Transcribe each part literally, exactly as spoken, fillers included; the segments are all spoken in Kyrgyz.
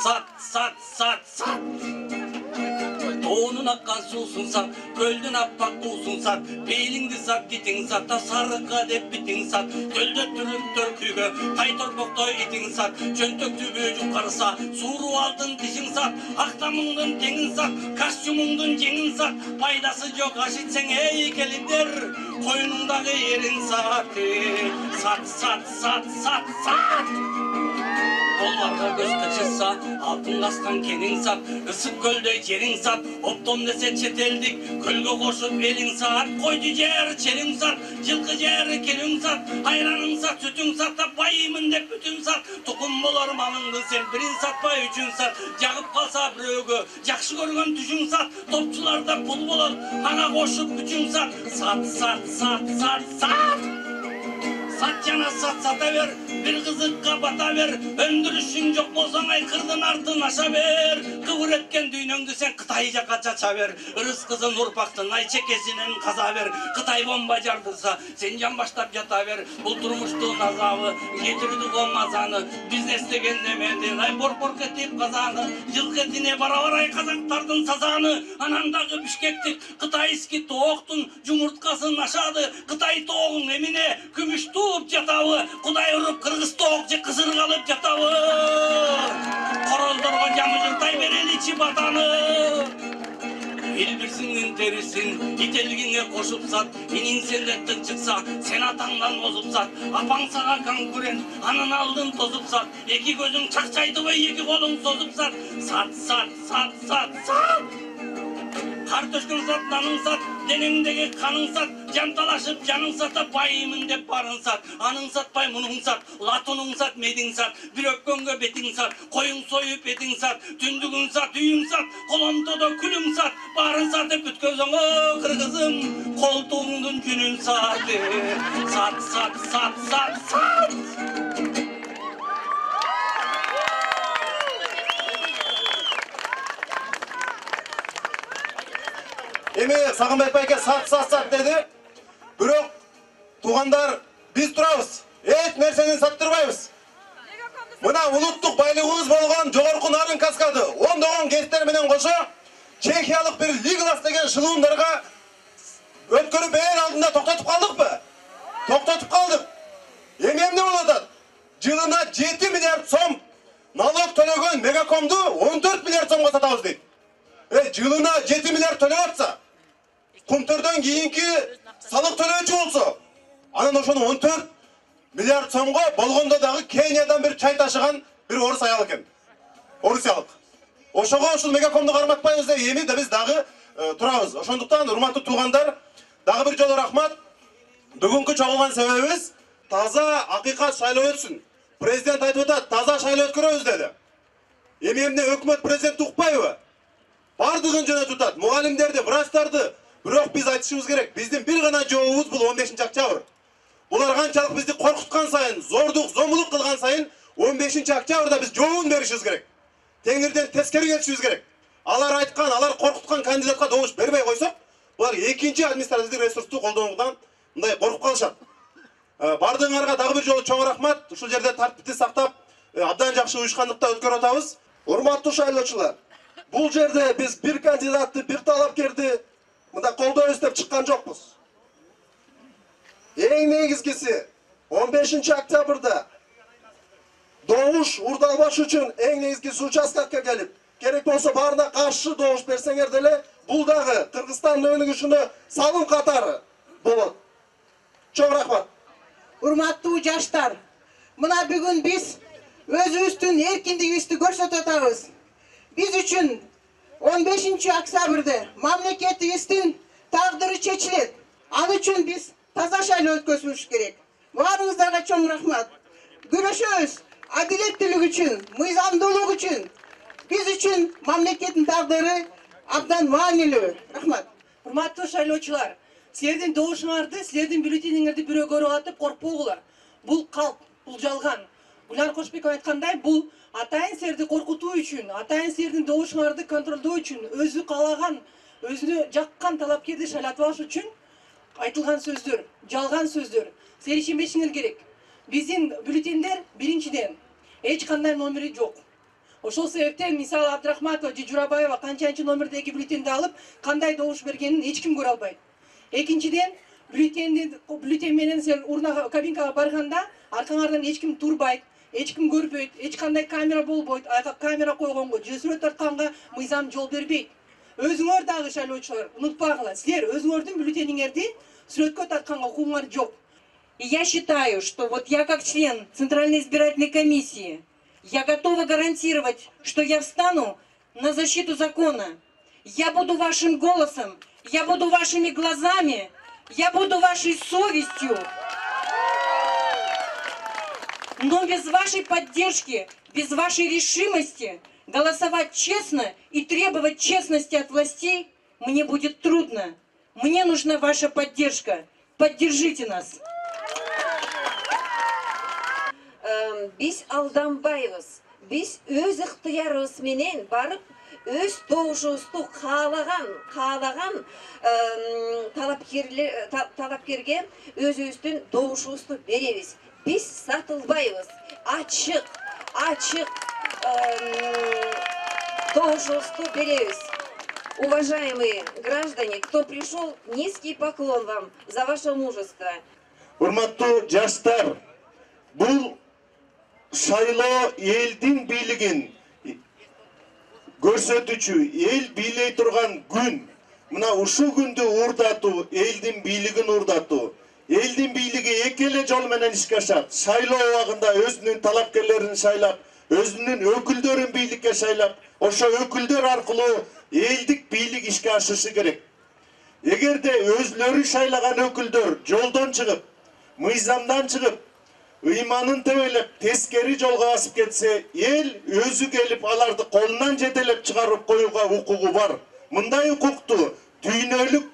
Сат, сат, сат, сат. Тоонун аккан суусун сат, көлдүн аппак туусун сат, пейлиңди сат, дитиң сат, та сарыкка деп битиң сат, көлдө түрүктөр күйгө, тай торбоктой итиң сат, чөнтөк түбү жукарса, сууру алдын дишиң сат, актамыңдын теңин сат, костюмуңдун жеңин сат, пайдасы жок аш ичсең эй келиндер, коюнуңдагы эрин сат, сат, сат, сат, сат, сат. Колларга көз кычырса, алтын каскан кениң сат, ысык көлдөй жериң сат, оптом десе чет элдик, көлгө кошуп элиң сат, койду жер чериң сат, жылкы жер келиң сат, айраның сат, сүтүң сат, да байымын деп бүтүн сат, тукум болор малыңды сен бирин сатпай үчүн сат, жагып калса бирөөгө жакшы көргөн түшүң сат, топчуларда пул болот, ага кошуп үчүн сат, сат, сат, сат, сат, сат. Сат жана сат сата бер, бир кызыкка бата бер, өндүрүшүң жок болсоң айкырдын артын аша бер, кыбыр эткен дүйнөңдү сен Кытай жака чача бер, ырыс кызын урпактын ай чекесинен каза бер, Кытай бомба жардырса, сен жан баштап жата бер, бул турмуштун азабы, кетирди го мазаны, бизнес деген немедин, ай борпорк этип казаны, жылкы этине бара-бара казактардын сазаны, анан дагы Бишкектик кытайский тооктун жумурткасын ашады, Кытай тоогуң эмине, күмүш жатабы, Кудай уруп кыргыз тоок же кызыргалып жатабы. Короздорго жамыжыртай берели чибатаны. Эл бирсиңдин терисин ителгиңе кошуп сат, иниң сенден тык чыкса, сен атаңдан озуп сат, апаң сага конкурент, анын алдын тосуп сат, эки көзүң чакчайдыбы, эки колуң созуп сат, сат, сат, сат, сат, сат. Кар төшкөн сат, наның сат, денеңдеги каның сат, жанталашып жаның сат, байымын деп барын сат, аның сатпай мунуң сат, латунуң сат, медиң сат, бир өпкөнгө бетиң сат, коюң союп этиң сат, түндүгүң сат, үйүң сат, коломтодо күлүң сат, барын сатып бүткөзөң о кыргызым, колтугуңдун жүнүн сат, сат, сат, сат, сат, сат. Эми Сагынбай байке сат сат сат деди. Бирок туугандар биз турабыз. Эч нерсени саттырбайбыз. Мына улуттук байлыгыбыз болгон жогорку нарын каскады ондогон гектар менен кошо чехиялык бир Лиглас деген шылуундарга өткөрүп эл алдында токтотуп калдыкпы? Токтотуп калдык. Эми эмне болуп атат? Жылына жети миллиард сом налог төлөгөн Мегакомду он төрт миллиард сомго сатабыз дейт. Э, жылына жети миллиард төлөп атса, Кумтөрдөн кийинки салык төлөөчү болсо, анан ошону он төрт миллиард сомго болгондо дагы Кениядан бир чай ташыган бир орус аял экен. Орусиялык. Ошого ушул Мегакомду карматпайбыз деп эми да биз дагы турабыз. Ошондуктан урматтуу туугандар, дагы бир жолу рахмат. Бүгүнкү чогулган себебибиз таза акыйкат шайлоо өтсүн. Президент айтып атат, таза шайлоо өткөрөбүз деди. Эми эмне өкмөт президентти укпайбы? Бардыгын жөнөтүп атат. Мугалимдерди, врачтарды. Бирок биз айтышыбыз керек. Биздин бир гана жообубуз бул он бешинчи октябрь. Булар канчалык бизди коркуткан сайын, зордук, зомбулук кылган сайын он бешинчи октябрда биз жообун беришибиз керек. Теңирден тескери келишибиз керек. Алар айткан, алар коркуткан кандидатка добуш бербей койсок, булар экинчи административдик ресурсту колдонуудан мындай коркуп калышат. Бардыгыңарга дагы бир жолу чоң рахмат. Ушул жерде тартипти сактап, абдан жакшы уюшкандыкта өткөрүп атабыз. Урматтуу шайлоочулар, бул жерде биз бир кандидатты, бир талапкерди мында колдойбуз деп чыккан жокпуз. Эң негизгиси он бешинчи октябрда добуш урдалбаш үчүн эң негизгиси участкага келип, керек болсо баарына каршы добуш берсеңер деле, бул дагы Кыргызстандын өнүгүшүнө салым катары болот. Чоң рахмат. Урматтуу жаштар, мына бүгүн биз өзүбүздүн эркиндигибизди көрсөтүп атабыз. Биз үчүн он бешинчи октябрда мамлекетибиздин тагдыры чечилет. Ал үчүн биз таза шайлоо өткөзүш керек. Баарыңыздарга чоң рахмат. Күрөшөбүз адилеттүүлүк үчүн, мыйзамдуулук үчүн. Биз үчүн мамлекеттин тагдыры абдан маанилүү. Рахмат. Урматтуу шайлоочулар, силердин добушуңарды, силердин бюллетениңерди бирөө көрүп алып деп коркпогула. Бул калп, бул жалган. Гүлнар Кошбекова айткандай, бул атайын силерди коркутуу үчүн, атайын силердин добушуңарды контролдоо үчүн, өзү каалаган, өзүнө жаккан талапкерди шайлатып алыш үчүн айтылган сөздөр, жалган сөздөр. Силер ишенбешиңер керек. Биздин бюллетендер биринчиден эч кандай номери жок. Ошол себептен мисалы Абдрахматова же Журабаева канчанчы номердеги бюллетенди алып кандай добуш бергенин эч ким көрө албайт. Экинчиден, бюллетенди бюллетен менен сен урна кабинкага барганда аркаңардан эч ким турбайт, эч ким көрбөйт, эч кандай камера болбойт. Айга камера койгонго же сүрөт тартканга мыйзам жол бербейт. Өзүңөр дагы шайлоочулар унутпагыла, силер өзүңөрдүн бюллетениңерди сүрөткө тартканга укугуңар жок. И я считаю, что вот я как член Центральной избирательной комиссии, я готова гарантировать, что я встану на защиту закона. Я буду вашим голосом, я буду вашими глазами, я буду вашей совестью. Но без вашей поддержки, без вашей решимости голосовать честно и требовать честности от властей мне будет трудно. Мне нужна ваша поддержка. Поддержите нас. Биз алданбайбыз. Биз өз ыктыярыбыз менен барып, өз добушубузду каалаган, каалаган талапкерлер талапкерге өзүбүздүн добушубузду беребиз. Биз сатылбайбыз. Ачык, ачык добушубузду беребиз. Уважаемые граждане, кто пришел, низкий поклон вам за ваше мужество. Урматтуу жаштар, бул шайлоо элдин бийлигин көрсөтүүчү, эл бийлей турган күн. Мына ушул күндү уурдатуу, элдин бийлигин уурдатуу. Элдин бийлиги эки эле жол менен ишке ашат. Шайлоо убагында өзүнүн талапкерлерин шайлап, өзүнүн өкүлдөрүн бийликке шайлап, ошо өкүлдөр аркылуу элдик бийлик ишке ашышы керек. Эгерде өзлөрү шайлаган өкүлдөр жолдон чыгып, мыйзамдан чыгып, ыйманын тебелеп, тескери жолго басып кетсе, эл өзү келип аларды колунан жетелеп чыгарып коюуга укугу бар. Мындай укукту дүйнөлүк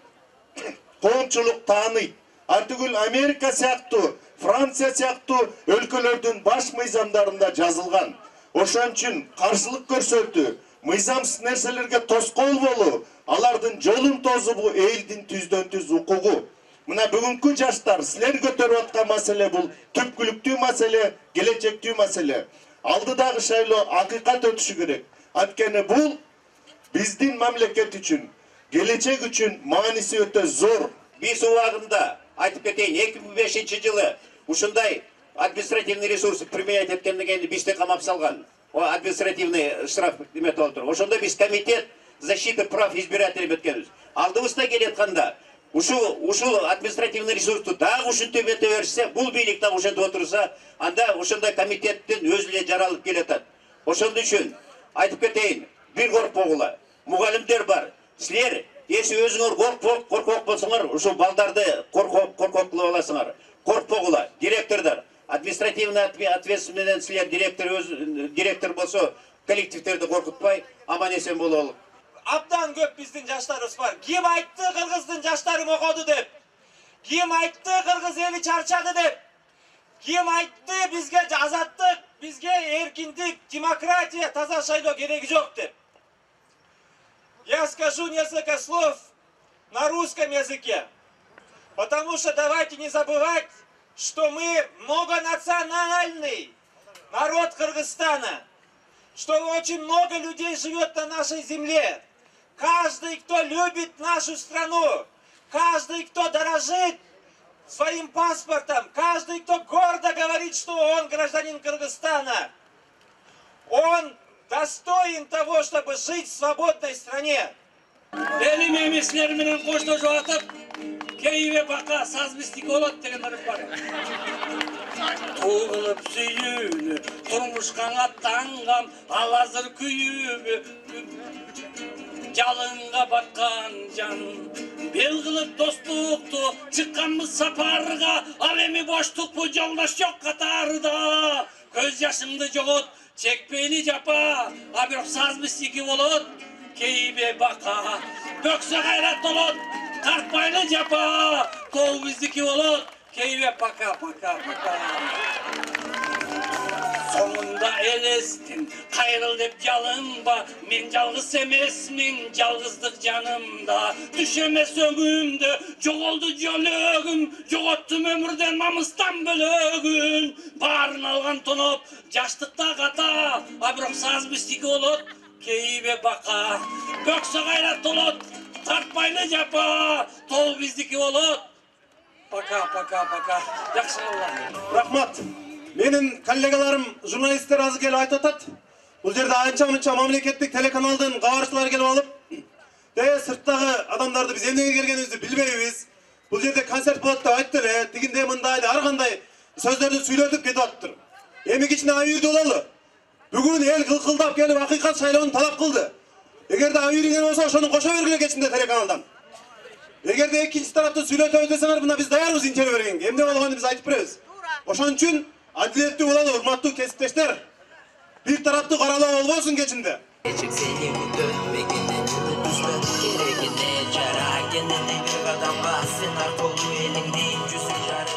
коомчулук тааныйт. Артыгүл Америка сыяктуу, Франция сыяктуу өлкөлөрдүн баш мыйзамдарында жазылган. Ошон үчүн каршылык көрсөтүү, мыйзамсыз нерселерге тоскоол болуу, алардын жолун тосуу элдин түздөн түз укугу. Мына бүгүнкү жаштар, силер көтөрүп аткан маселе бул түпкүлүктүү маселе, келечектүү маселе. Алдыдагы шайлоо акыйкат өтүшү керек. Анткени бул биздин мамлекет үчүн, келечек үчүн мааниси өтө зор. Биз убагында айтып кетейин, эки миң бешинчи жылы ушундай административный ресурсы применять эткенден бизди камап салган. О административный штраф эметип отуруп. Ошондо биз комитет защиты прав избирателей өткөнбүз. Алдыбызда келатканда ушул ушул административный ресурсту дагы ушинтип эте берсе, бул бийлик дагы ушинтип отурса, анда ошондой комитеттин өзү эле жаралып келатат. Ошон үчүн айтып кетейин, бир коркпогула. Мугалимдер бар. Силер эси өзүңөр коркпок, коркок болсоңор, ушул балдарды коркок, коркок кылып аласыңар. Коркпогула, директордор, административный ответственность менен силер директор өз директор болсо, коллективдерди коркутпай, аман-эсен бололу. Абдан көп биздин жаштарыбыз бар. Ким айтты кыргыздын жаштары мокоду деп? Ким айтты кыргыз эли чарчады деп? Ким айтты бизге азаттык, бизге эркиндик, демократия, таза шайлоо кереги жок деп? Я скажу несколько слов на русском языке. Потому что давайте не забывать, что мы многонациональный народ Кыргызстана, что очень много людей живет на нашей земле. Каждый, кто любит нашу страну, каждый, кто дорожит своим паспортом, каждый, кто гордо говорит, что он гражданин Кыргызстана, он достоин того, чтобы жить в свободной стране. Элим эмеслер менен коштошуп атып, кейбе бака сазбистик болот деген ырым бар. Тугулуп сүйүүнү, турмушка аттанган, ал азыр күйүүгө жалынга баткан жан. Бел кылып достукту, чыкканбыз сапарга, ал эми боштукпу жолдош жок катарда. Көз жашыңды жогот, чекпейли жапа, а бирок сазбистики болот. Кейбе бака, бөксө кайрат болот, тартпайлы жапа, тоо биздики болот. Кейбе пока, пока, пока. Сонунда да элестин. Кайрыл деп жалынба, мен жалгыз эмесмин, жалгыздык жанымда. Түш эмес өңүмдө жоголду жөлөгүм, жоготтум өмүрдөн намыстан бөлөгүн. Баарын алган тоноп, жаштыкта ката, а бирок саз биздики болот, кейбе бака. Бөксө кайрат толот, тартпайлы жапа, тол биздики болот. Пока, пока, пока. Жакшы болот. Рахмат. Менин коллегаларым, журналисттер азыр келип айтып атат. Бул жерде анча-мынча мамлекеттик телеканалдын кабарчылары келип алып, де сырттагы адамдарды биз эмнеге келгенибизди билбейбиз. Бул жерде концерт болот деп айтты эле, тигиндей мындай ар кандай сөздөрдү сүйлөтүп кетип атыптыр. Эми кичине абийирдүү бололу. Бүгүн эл кылкылдап келип акыйкат шайлоону талап кылды. Эгерде абийириңер болсо, ошону кошо бергиле кечинде телеканалдан. Эгерде экинчи тарапты сүйлөтөбүз десеңер, мына биз даярбыз интервью бергенге. Эмне болгонун биз айтып беребиз. Ошон үчүн адилеттүү бололу, урматтуу кесиптештер. Бир тараптуу каралоо болбосун кечинде. Сени күтпөгенен түстө керегине жарагенен бир адамга сен аркылуу элиңдин жүзүн жара.